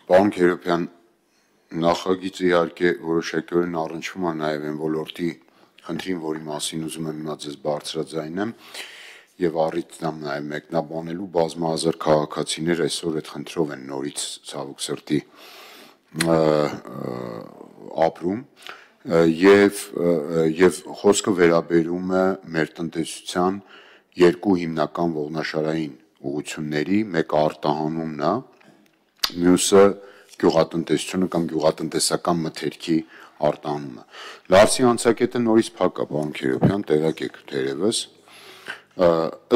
Պարոն Քերոբյան, նախագիծը իհարկե որոշակիորեն առնչվում է նաև այն ոլորտի խնդրին, որի մասին ուզում եմ հիմա ձեզ բարձրաձայնեմ եւ առիթ եմ նաև մեկնաբանելու բազմահազար քաղաքացիներ այսօր այդ խնդրով են նորից ցավոք սրտի ապրում եւ խոսքը վերաբերում է մեր տնտեսության երկու հիմնական ողնաշարային ուղղությունների, մեկը արտահանումն է, մյուսը գյուղատնտեսությունը կամ գյուղատնտեսական մթերքի արտահանումը։ Լարսի անցակետը նորից փակ է, պարոն Քերոբյան, տեղյակ եք թերևս,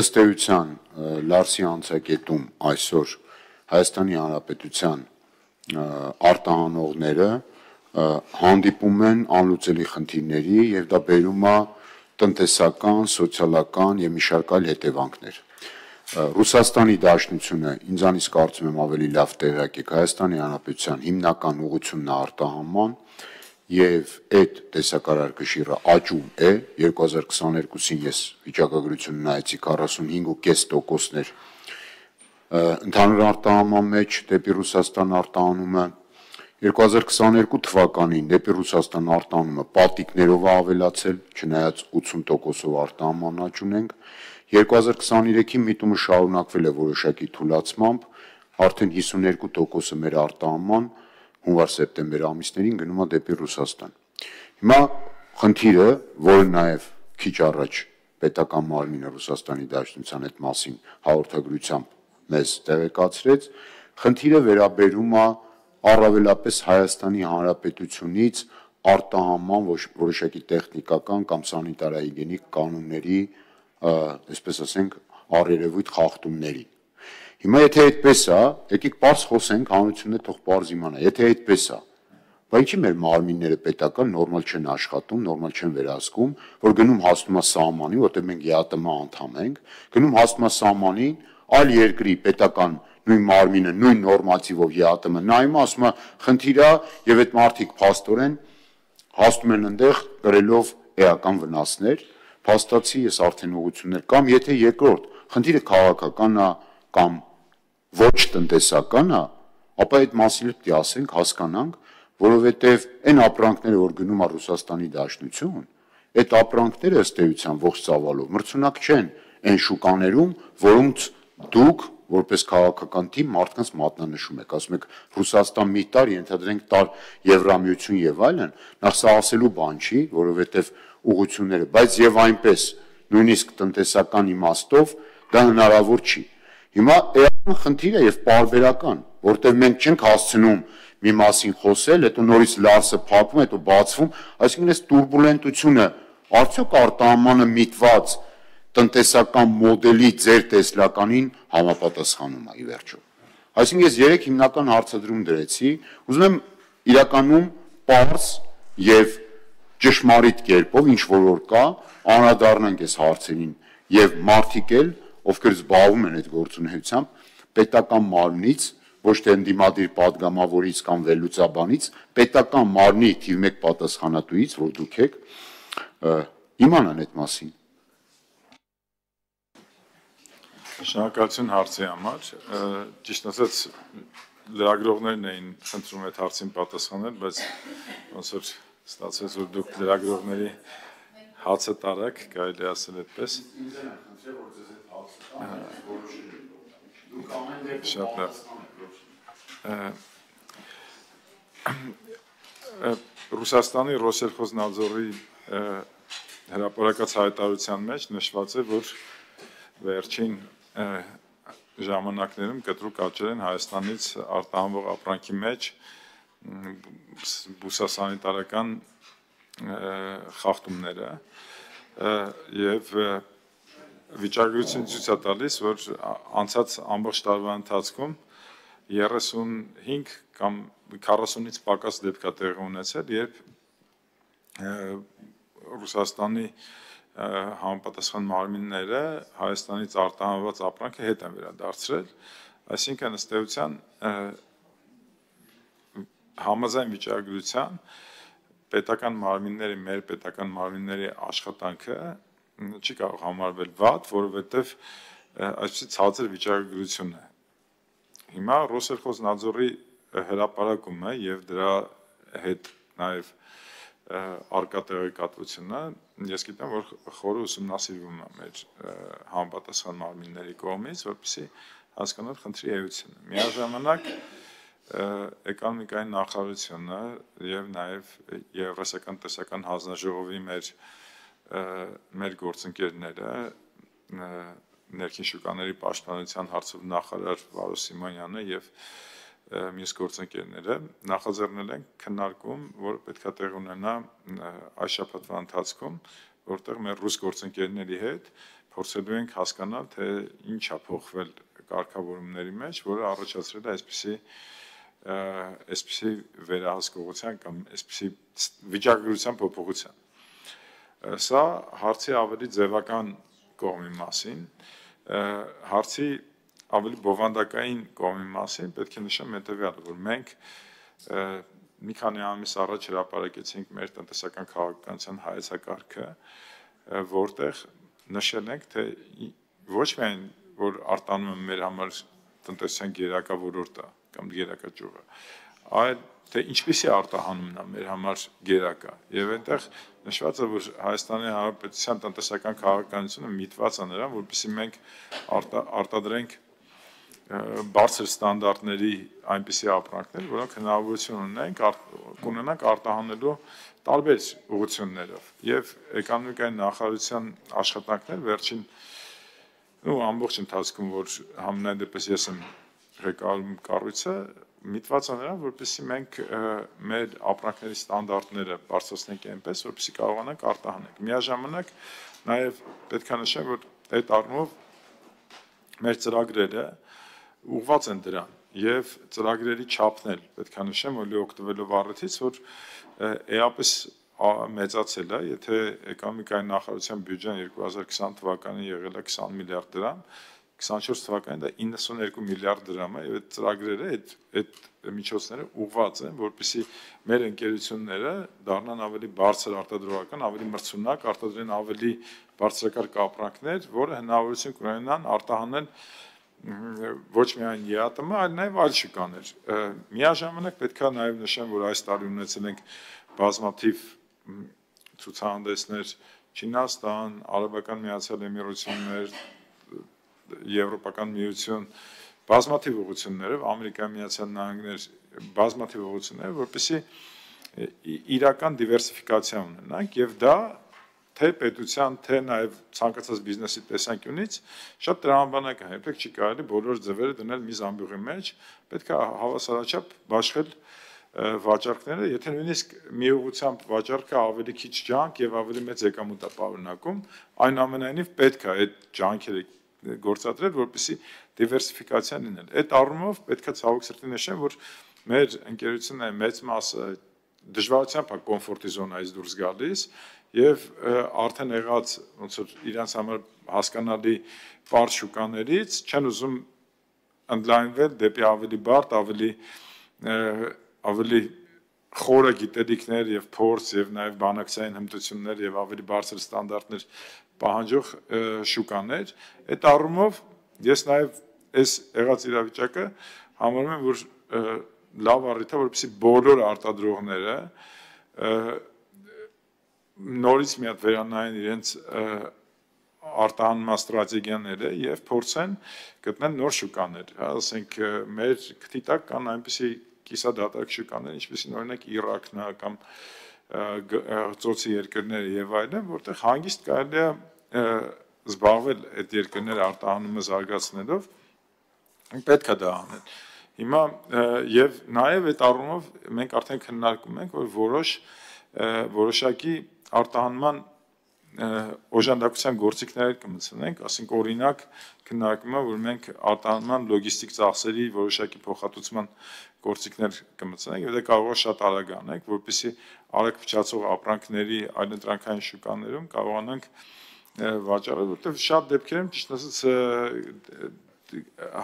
ըստ էության Լարսի անցակետում այսօր Հայաստանի Հանրապետության արտահանողները հանդիպում են անլուծելի խնդիրների եւ դա բերում է տնտեսական, սոցիալական եւ մի շարք այլ հետևանքներ։ Ռուսաստանի Դաշնությունը ինձանից կարծում եմ ավելի լավ տեղյակ եք Հայաստանի Հանրապետության հիմնական ուղղությունն արտահանման եւ այդ տեսակարարքշիռը աճում է 2022-ին ես վիճակագրություն նայեցի 45.5%-ներ ընդհանուր արտահանման մեջ դեպի Ռուսաստան արտահանումը 2022 թվականին դեպի Ռուսաստան արտահանումը պատիկներով ավելացել, չնայած 80%-ով արտահանման աճ ունենք, 2023-ի միտումը շարունակվել է որոշակի թուլացմամբ, արդեն 52%-ը մեր արտահանման հունվար-սեպտեմբեր ամիսներին գնում է դեպի Ռուսաստան։ Հիմա խնդիրը, որը նաև քիչ առաջ պետական մարմինը Ռուսաստանի Դաշնության այդ մասին հաղորդագրությամբ մեզ տեղեկացրեց, խնդիրը վերաբերում է առավելապես Հայաստանի Հանրապետությունից արտահանման որոշակի տեխնիկական կամ սանիտարահիգիենիկ կանոնների, այսպես ասենք, առերևույթ խախտումներին։ Հիմա եթե այդպես է, եկեք պարզ խոսենք, հանրությունը թող պարզ իմանա, եթե այդպես է, բա ինչի մեր մարմինները պետական նորմալ չեն աշխատում, նորմալ չեն վերահսկում, որ գնում հասնում է սահմանին, որտեղ մենք ԵԱՏՄ անդամ ենք, գնում հասնում է սահմանին, այլ երկրի պետական նույն մարմինը, նույն նորմատիվով ԵԱՏՄ նայում, ասում է խնդիր է եւ այդ մարդիկ փաստորեն հասնում են այնտեղ կրելով էական վնասներ, փաստացի ես արդեն ուղղություններ կամ եթե երկրորդ խնդիրը քաղաքական է կամ ոչ տնտեսական է, ապա այդ մասին պետք է ասենք, հասկանանք, որովհետև այն ապրանքները, որ գնում է Ռուսաստանի Դաշնություն, այդ ապրանքները ըստ էության ողջ ծավալով մրցունակ չեն այն շուկաներում, որոնց դուք որպես քաղաքական թիմ մարդկանց մատնանշում եք, ասում եք Ռուսաստան մի տար, ենթադրենք տար Եվրամիություն եւ այլն, նախ սա ասելու բան չի, որովհետև ուղղությունները, բայց եւ այնպես նույնիսկ տնտեսական իմաստով դա հնարավոր չի։ Հիմա էական խնդիրը եւ պարբերական, որտեղ մենք չենք հասցնում մի մասին խոսել, հետո նորից Լարսը փակվում, հետո բացվում, այսինքն այս տուրբուլենտությունը արդյոք արտահանմանը միտված տնտեսական մոդելի ձեր տեսլականին համապատասխանում է ի վերջո։ Այսինքն ես 3 հիմնական հարցադրում դրեցի, ուզում եմ իրականում պարզ եւ ճշմարիտ կերպով ինչ որ կա, անդրադառնանք այս հարցերին եւ մարդիկ էլ, ովքեր զբաղվում են այդ գործունեությամբ, պետական մարմնից, ոչ թե ընդդիմադիր падգամավորից կամ վերլուծաբանից, պետական մարմնի թիվ 1 պատասխանատուից, որ դուք եք, իմանան այդ մասին։ Շնորհակալություն հարցի համար, ճիշտ ասած լրագրողներն էին խնդրում այդ հարցին պատասխանել, բայց ոնց որ ստացվեց, որ դուք լրագրողների հացը տարաք, կարելի ասել այդպես։ Շատ լավ։ Ռուսաստանի Ռոսելխոզնadzorի հրապարակած հայտարարության մեջ նշված է, որ վերջին ժամանակներում կտրուկ աճել են Հայաստանից արտահանվող ապրանքի մեջ բուսասանիտարական խախտումները եւ վիճակագրությունը ցույց է տալիս, որ անցած ամբողջ տարվա ընթացքում 35 կամ 40-ից պակաս դեպք է տեղի ունեցել, երբ Ռուսաստանի համապատասխան մարմինները Հայաստանից արտահանված ապրանքը հետ են վերադարձրել, այսինքն ըստ էության համաձայն վիճակագրության պետական մարմինների, մեր պետական մարմինների աշխատանքը չի կարող համարվել վատ, որովհետև այսպիսի ցածր վիճակագրություն է։ Հիմա Ռոսելխոզնadzորի հրապարակումը եւ դրա հետ նաեւ արկա տեղեկատվությունը ես գիտեմ որ խորը ուսումնասիրվում է մեր համապատասխան մարմինների կողմից որպեսզի հասկանալ խնդրի էությունը միաժամանակ էկոնոմիկայի նախարարությունը եւ նաեւ Եվրասիական տնտեսական հանձնաժողովի մեր գործընկերները ներքին շուկաների պաշտպանության հարցով նախարար Վարո Սիմոնյանը եւ մյուս գործընկերները նախաձեռնել են քննարկում, որը պետք է տեղ ունենա այս շաբաթվա ընթացքում, որտեղ մեր ռուս գործընկերների հետ փորձելու ենք հասկանալ, թե ինչ է փոխվել կարգավորումների մեջ, որը առաջացրել է այսպիսի վերահսկողության կամ այսպիսի վիճակագրության փոփոխության։ Սա հարցի ավելի ձևական կողմի մասին, հարցի ավելի բովանդակային կողմի մասին պետք է նշեմ հետևյալը, որ մենք մի քանի ամիս առաջ հրապարակեցինք մեր տնտեսական քաղաքականության հայեցակարգը, որտեղ նշել ենք, թե ոչ միայն որ արտանում է մեր համար տնտեսության գերակա ոլորտը կամ գերակա ճյուղը, այլ թե ինչպիսի արտահանումն է մեր համար գերակա։ Եվ այնտեղ նշված է, որ Հայաստանի Հանրապետության տնտեսական քաղաքականությունը միտված է նրան, որպեսզի մենք արտադրենք բարձր ստանդարտների այնպիսի ապրանքներ, որոնք հնարավորություն ունենանք արտահանելու տարբեր ուղղություններով։ Եվ էկոնոմիկայի նախարարության աշխատանքներ վերջին ամբողջ ընթացքում, որ համենայն դեպս ես եմ ղեկավարում կառույցը, միտված է նրան, որպեսզի մենք մեր ապրանքների ստանդարտները բարձրացնենք այնպես, որպեսզի կարողանանք արտահանել։ Միաժամանակ նաև պետք է նշեմ, որ այդ առումով մեր ծրագրերը ուղղված են դրան եւ ծրագրերի չափն էլ պետք է նշեմ, որ օգտվելով առիթից, որ էապես մեծացել է, եթե էկոնոմիկայի նախարարության բյուջեն 2020 թվականին եղել է 20 միլիարդ դրամ, 24 թվականին դա 92 միլիարդ դրամ է եւ այդ ծրագրերը, այդ միջոցները ուղղված են, որպեսզի մեր ընկերությունները դառնան ավելի բարձր արտադրողական, ավելի մրցունակ, արտադրեն ավելի բարձրակարգ ապրանքներ, որը հնարավորություն կունենան արտահանել ոչ միայն ԵԱՏՄ, այլ նաև այլ շուկաներ։ Միաժամանակ պետք է նաև նշեմ, որ այս տարի ունեցել ենք բազմաթիվ ցուցահանդեսներ Չինաստան, Արաբական Միացյալ Էմիրություններ, Եվրոպական միություն, բազմաթիվ ուղղություններով, Ամերիկայի Միացյալ Նահանգներ, բազմաթիվ ուղղություններ, որպեսզի իրական դիվերսիֆիկացիա ունենանք եւ դա թե պետության, թե նաև ցանկացած բիզնեսի տեսանկյունից շատ տրամաբանակ է, երբեք չի կարելի բոլոր ձևերը դնել մի զամբյուղի մեջ, պետք է հավասարաչափ բաշխել վաճառքները, եթե նույնիսկ մի ուղղությամբ վաճառքը ավելի քիչ ջանք եւ ավելի մեծ եկամուտ է պարունակում, այնուամենայնիվ պետք է այդ ջանքերը գործադրել, որպեսզի դիվերսիֆիկացիա լինել։ Այդ առումով պետք է ցավոք սրտի նշեմ, որ մեր ընկերությունների մեծ մասը դժվարությամբ է կոմֆորտի զոնայից դուրս գալիս եւ արդեն եղած ոնց որ իրանց համար հասկանալի բարձ շուկաներից չեն ուզում ընդլայնվել դեպի ավելի բարդ, ավելի խորը գիտելիքներ եւ փորձ եւ նաեւ բանակցային հմտություններ եւ ավելի բարձր ստանդարտներ պահանջող շուկաներ։ Այդ առումով ես նաեւ այս եղած իրավիճակը համարում եմ, որ լավ առիթ է, որպեսզի բոլոր արտադրողները նորից մի հատ վերանային իրենց արտահանման ստրատեգիաները եւ փորձեն գտնել նոր շուկաներ, ասենք մեր քթի տակ կան այնպիսի կիսադատարկ շուկաներ, ինչպեսին օրինակ Իրաքն է կամ ծոցի երկրները եւ այլն, որտեղ հանգիստ կարելի է զբաղվել այդ երկրները արտահանումը զարգացնելով, պետք է դա անել։ Հիմա եւ նաեւ այդ առումով մենք արդեն քննարկում ենք, որ որոշակի արտահանման օժանդակության գործիքներ կմտցնենք, ասենք օրինակ քննարկում է, որ մենք արտահանման լոգիստիկ ծախսերի որոշակի փոխհատուցման գործիքներ կմտցնենք, եւ դա կարող է շատ արագ անենք, որպեսզի արագ փչացող ապրանքների այլընտրանքային շուկաներում կարողանանք վաճառել, որտեղ շատ դեպքերում ճիշտ ասած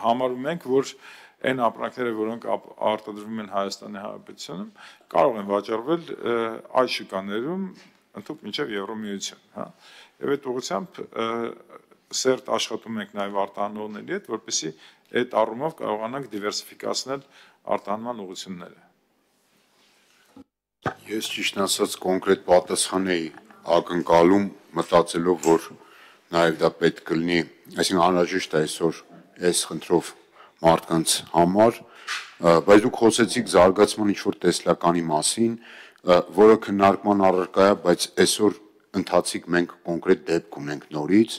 համարում ենք, որ այն ապրանքները, որոնք արտադրվում են Հայաստանի Հանրապետությունում, կարող են վաճառվել այլ շուկաներում ընդհանուր մինչև Եվրոմիություն, հա։ Եվ այդ ուղղությամբ սերտ աշխատում ենք նաև արտահանողների հետ, որպեսզի այդ առումով կարողանանք դիվերսիֆիկացնել արտահանման ուղղությունները։ Ես ճիշտ ասած կոնկրետ պատասխան էի ակնկալում, մտածելով, որ նաև դա պետք կլինի, այսինքն անհրաժեշտ է այսօր այս խնդրով մարդկանց համար, բայց դուք խոսեցիք զարգացման ինչ-որ տեսլականի մասին, որը քննարկման առարկա է, բայց այսօր ընթացիկ մենք կոնկրետ դեպք ունենք նորից,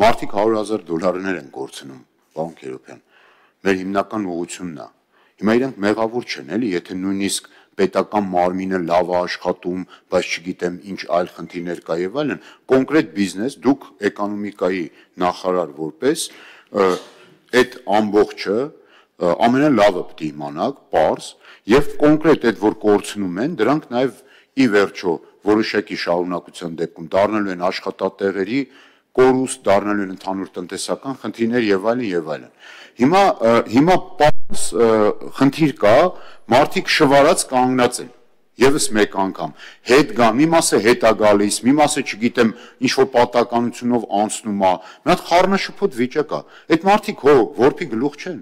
մարդիկ $100,000 են կորցնում, պարոն Քերոբյան, մեր հիմնական ուղղությունն է։ Հիմա իրենք մեղավոր չեն, էլի, եթե նույնիսկ պետական մարմինը լավ է աշխատում, բայց չգիտեմ ինչ այլ խնդիրներ կա եւ այլն, կոնկրետ բիզնես, դուք էկոնոմիկայի նախարար որպես այդ ամբողջը ամենալավը պետք է իմանաք, պարզ, եւ կոնկրետ այդ որ կորցնում են, դրանք նաեւ ի վերջո որոշակի շարունակության դեպքում դառնալու են աշխատատեղերի կորուստ, դառնալու են ընդհանուր տնտեսական խնդիրներ եւ այլն եւ այլն։ Հիմա պարզ խնդիր կա, մարդիկ շվարած կանգնած են։ Եվս մեկ անգամ հետ գան, մի մասը հետ է գալիս, մի մասը չգիտեմ ինչ որ պատականությունով անցնում է, մի հատ խառնաշփոթ վիճակ է։ Այդ մարդիկ որփի գլուխ չեն։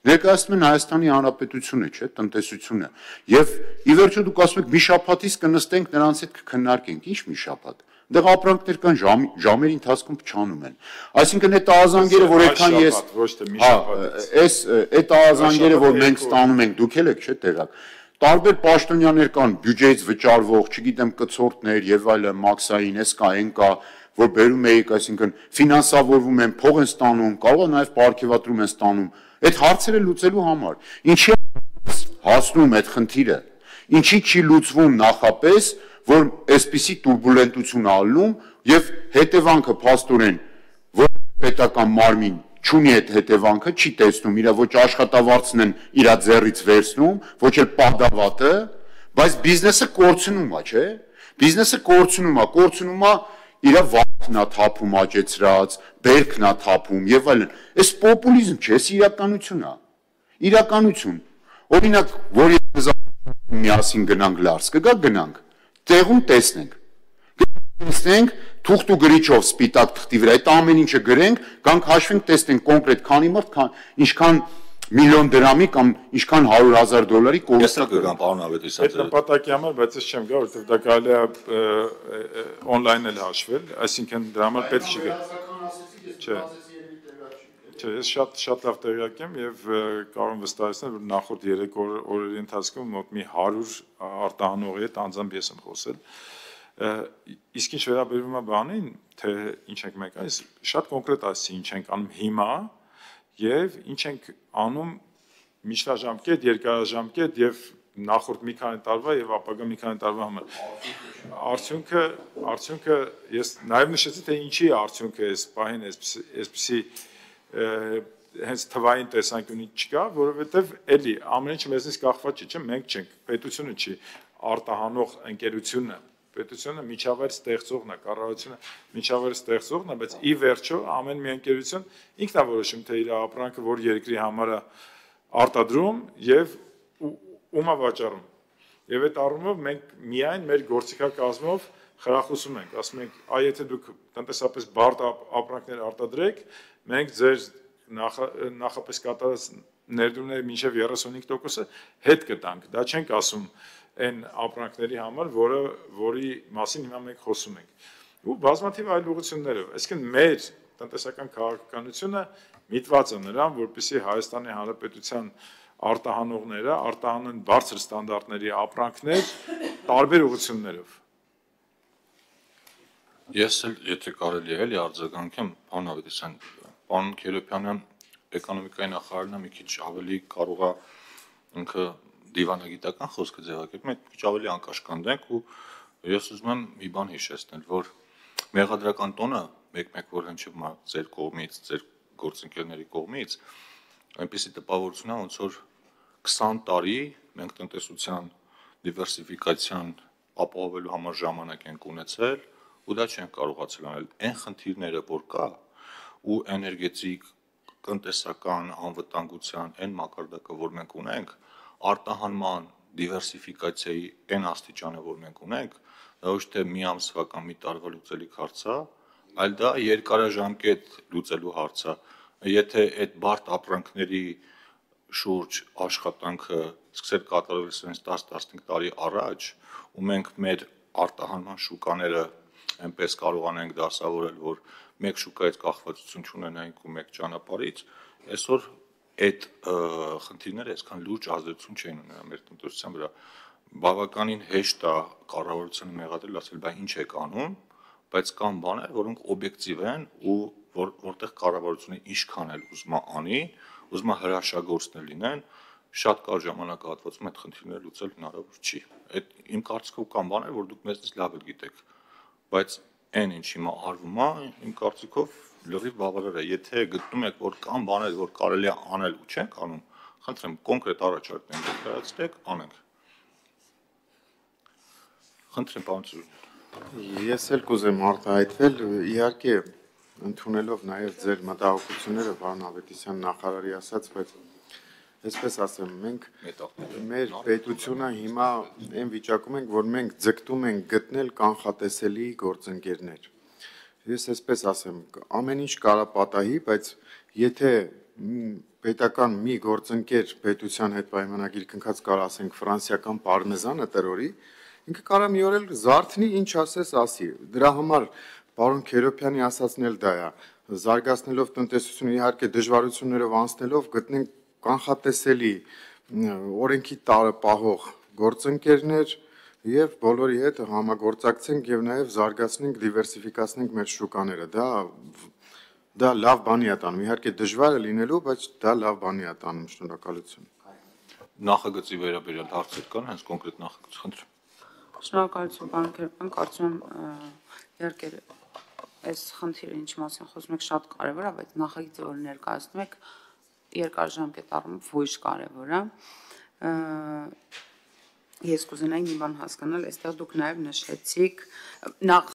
Ներկայացնում են Հայաստանի Հանրապետությունը, չէ, տնտեսությունը։ Եվ ի վերջո դուք ասում եք մի շաբաթից կնստենք նրանց հետ կքննարկենք, ինչ մի շաբաթ։ Դեղ ապրանքներ կան ժամերի ընթացքում փչանում են։ Այսինքն այդ ահազանգերը, որ այդքան ես այդ ահազանգերը, որ մենք ստանում ենք, դուք եք, չէ, տեղակ։ Տարբեր պաշտոնյաներ կան, բյուջեից վճարվող, չգիտեմ, կցորդներ եւ այլն, մաքսային, էս կա, այն կա, որ բերում էիք, այսինքն ֆինանսավորվում են, փող են ստանում, կարող է նաեւ պարգևատրում են ստանում։ Այդ հարցերը լուծելու համար։ Ինչի հասնում այդ խնդիրը։ Ինչի չի լուծվում նախապես, որ այսպիսի турբուլենտություն ալնում եւ հետևանքը փաստորեն որ պետական մարմին չունի այդ հետևանքը, չի տեսնում, իր ոչ աշխատավարձն են իր ձեռից վերցնում, ոչ էլ պահդավատը, բայց բիզնեսը կորցնում է, չէ՞։ Բիզնեսը կորցնում է իր վարկն է թափում աճեցրած, բերքն է թափում եւ այլն։ Այս պոպուլիզմ չէ, այս իրականություն է։ Իրականություն։ Օրինակ, որ միասին գնանք Լարս, կգա գնանք, տեղում տեսնենք։ Տեսնենք թուղթ ու գրիչով սպիտակ թղթի վրա այդ ամեն ինչը գրենք, գանք հաշվենք, տեսնենք կոնկրետ քանի մարդ, ինչքան միլիոն դրամի կամ ինչքան $100,000 կորստա կգան, պարոն Ավետիսյան։ Այդ նպատակի համար, բայց ես չեմ գա, որովհետև դա կարելի է on-line էլ հաշվել, այսինքն դրա համար պետք չի գա։ Չէ, ես շատ լավ տեղյակ եմ եւ կարող եմ վստահեցնել, որ նախորդ 3 օրերի ընթացքում մոտ մի 100 արտահանողի հետ անձամբ ես եմ խոսել։ Իսկ ինչ վերաբերում է բանին, թե ինչ ենք մենք այս շատ կոնկրետ ասի ինչ ենք անում հիմա եւ ինչ ենք անում միջնաժամկետ, երկարաժամկետ եւ նախորդ մի քանի տարվա եւ ապագա մի քանի տարվա համար։ Արդյունքը ես նաեւ նշեցի թե ինչի է արդյունքը այս պահին այսպիսի հենց թվային տեսանկյունից չկա, որովհետեւ էլի ամեն ինչ մեզնից կախված չի, չէ՞, մենք չենք, պետությունը չի, արտահանող ընկերությունը պետությունը միջավայր ստեղծողն է, կառավարությունը միջավայր ստեղծողն է, բայց ի վերջո ամեն մի ընկերություն ինքն է որոշում թե իր ապրանքը որ երկրի համար է արտադրում եւ ում է վաճառում։ Եվ այդ առումով մենք միայն մեր գործիքակազմով խրախուսում ենք, ասում ենք, այ եթե դուք տնտեսապես բարդ ապրանքներ արտադրեք, մենք ձեր նախապես կատարած ներդրումների մինչև 35% հետ կտանք։ Դա չենք ասում այն ապրանքների համար, որի մասին հիմա մենք խոսում ենք։ Ու բազմաթիվ այլ ուղղություններով, այսինքն մեր տնտեսական քաղաքականությունը միտված է նրան, որպեսզի Հայաստանի Հանրապետության արտահանողները արտահանեն բարձր ստանդարտների ապրանքներ տարբեր ուղղություններով։ Ես էլ եթե կարելի է էլի արձագանքեմ, պարոն Ավետիսյան, պարոն Քերոբյանը էկոնոմիկայի նախարարն է մի քիչ ավելի կարող է ինքը դիվանագիտական խոսքը ձևակերպել, մենք քիչ ավելի անկաշկանդենք ու ես ուզում եմ մի բան հիշեցնել, որ մեղադրական տոնը մեկ-մեկ որ հնչում է ձեր կողմից, ձեր գործընկերների կողմից, այնպեսի տպավորություն է, ոնց որ 20 տարի մենք տնտեսության դիվերսիֆիկացիան ապահովելու համար ժամանակ ենք ունեցել ու դա չենք կարողացել անել։ Այն խնդիրները, որ կա ու էներգետիկ, տնտեսական անվտանգության այն մակարդակը, որ մենք ունենք, արտահանման դիվերսիֆիկացիայի այն աստիճանը, որ մենք ունենք, դա ոչ թե մի ամսվա կամ մի տարվա լուծելիք հարց է, այլ դա երկարաժամկետ լուծելու հարց է։ Եթե այդ բարդ ապրանքների շուրջ աշխատանքը սկսել կատարվել sense 10-15 տարի առաջ, ու մենք մեր արտահանման շուկաները այնպես կարողանանք դասավորել, որ մեկ շուկայից կախվածություն չունենայինք ու մեկ ճանապարհից, այսօր այդ խնդիրները այսքան լուրջ ազդեցություն չեն ունենա մեր տնտեսության վրա։ Բավականին հեշտ է կառավարությանը մեղադրել, ասել, բա ինչ եք անում, բայց կան բաներ, որոնք օբյեկտիվ են ու որտեղ կառավարությունը ինչքան էլ ուզում է անի, ուզում է հրաշագործներ լինեն, շատ կարճ ժամանակահատվածում այդ խնդիրները լուծել հնարավոր չի։ Այդ իմ կարծիքով կան բաներ, որ դուք մեզնից լավ եք գիտեք, բայց այն ինչ հիմա արվում է, իմ կարծիքով լրիվ բավարար է։ Եթե գտնում եք, որ կան բաներ, որ կարելի է անել ու չենք անում, խնդրեմ կոնկրետ առաջարկներ ներկայացրեք, անենք։ Խնդրեմ, պարոն Ծուրյան։ Ես էլ կուզեմ արտահայտվել, իհարկե ընդունելով նաև ձեր մտահոգությունները, պարոն Ավետիսյան նախարարի ասած, բայց այսպես ասեմ, մենք մեր պետությունը հիմա այն վիճակում ենք, որ մենք ձգտում ենք գտնել կանխատեսելի գործընկերներ։ Ես այսպես ասեմ, ամեն ինչ կարա պատահի, բայց եթե պետական մի գործընկեր պետության հետ պայմանագիր կնքած կարա ասենք ֆրանսիական պարմեզանը տրորի, ինքը կարա մի օր էլ զարթնի, ինչ ասես ասի։ Դրա համար պարոն Քերոբյանի ասածն էլ դա է, զարգացնելով տնտեսությունը, իհարկե դժվարություններով անցնելով գտնենք կանխատեսելի օրենքի տարը պահող գործընկերներ եւ բոլորի հետ համագործակցենք եւ նաեւ զարգացնենք, դիվերսիֆիկացնենք մեր շուկաները։ Դա լավ բանի է տանում, իհարկե դժվար է լինելու, բայց դա լավ բանի է տանում, շնորհակալություն։ Նախագծի վերաբերյալ հարցեր կան, հենց կոնկրետ նախագծի խնդրեմ։ Շնորհակալություն, պարոն Քերոբյան, կարծում եմ իհարկե այս խնդիրը ինչ մասին խոսում եք շատ կարևոր է, բայց նախագիծը, որ ներկայացնում եք, երկարաժամկետ առումով ոչ կարևոր է։ Ես կուզենայի մի բան հասկանալ, այստեղ դուք նաև նշեցիք նախ